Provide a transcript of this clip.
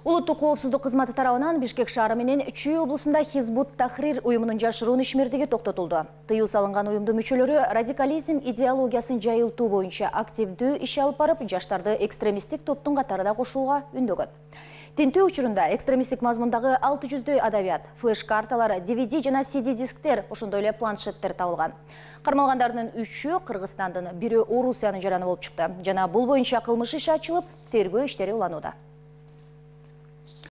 Улуттук коопсуздук кызматы тарабынан Бишкек шаары менен Чүй облусунда Хизбут Тахрир уюмунун жашыруун ишмердиги токтотулду. Тыюу салынган уюмдун мүчөлөрү радикализм идеологиясын жайылтуу боюнча активдүү иш алып барып, жаштарды экстремисттик топтун катарына кошууга үндөгөн. Тинтүү учурунда экстремисттик мазмундагы 600дөй адабият, флеш-карталар, DVD жана CD дисктер, ошондой эле планшеттер табылган. Кармалгандардын 3-ү Кыргызстандын, 1-ü Орусиянын жараны болуп чыкты. Жана бул боюнча кылмыш иши ачылып, тергөө иштери уланууда.